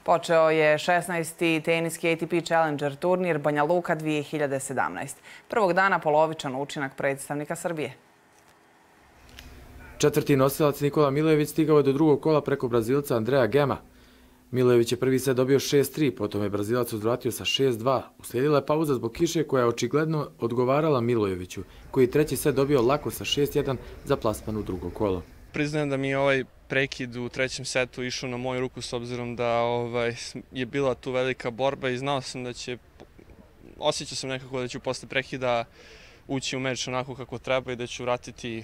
Počeo je 16. teniski ATP Challenger turnir Banja Luka 2017. Prvog dana polovičan učinak predstavnika Srbije. Četvrti nosilac Nikola Milojević stigao je do drugog kola preko Brazilca Andrea Gema. Milojević je prvi set dobio 6-3, potom je Brazilac uzvratio sa 6-2. Uslijedila je pauza zbog kiše koja je očigledno odgovarala Milojeviću, koji je treći set dobio lako sa 6-1 za plasman u drugo kolo. Priznajem da mi je ovaj prekid u trećem setu išao na moju ruku s obzirom da je bila tu velika borba i znao sam da će, osjećao sam nekako da ću posle prekida ući u meč onako kako treba i da ću vratiti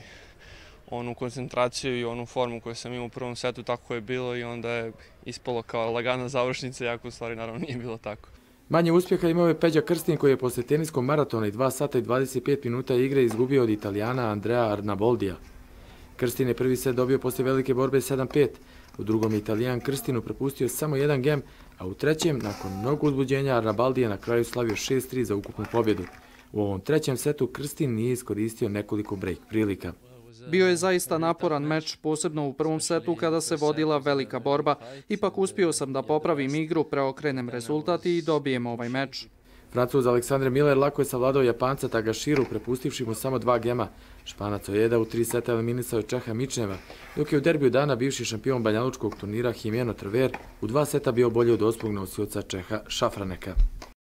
onu koncentraciju i onu formu koju sam imao u prvom setu, tako je bilo i onda je ispalo kao lagana završnica, iako u stvari naravno nije bilo tako. Manje uspjeha imao je Peđa Krstin koji je posle teniskog maratona i 2 sata i 25 minuta igre izgubio od Italijana Andrea Arnaboldija. Krstin je prvi set dobio posle velike borbe 7-5. U drugom Italijan Krstinu prepustio samo jedan gem, a u trećem, nakon mnogo uzbuđenja, Arnaboldi je na kraju slavio 6-3 za ukupnu pobjedu. U ovom trećem setu Krstin nije iskoristio nekoliko break prilika. Bio je zaista naporan meč, posebno u prvom setu kada se vodila velika borba. Ipak uspio sam da popravim igru, preokrenem rezultat i dobijem ovaj meč. Francuz Aleksandre Miller lako je savladao Japanca Tagashiru, prepustivši mu samo 2 gema. Španac Ojeda u 3 seta eliminisao je Čeha Mičneva, dok je u derbiju dana bivši šampion banjalučkog turnira Jimeno Trver u 2 seta bio bolji od ospog nosioca Čeha Šafraneka.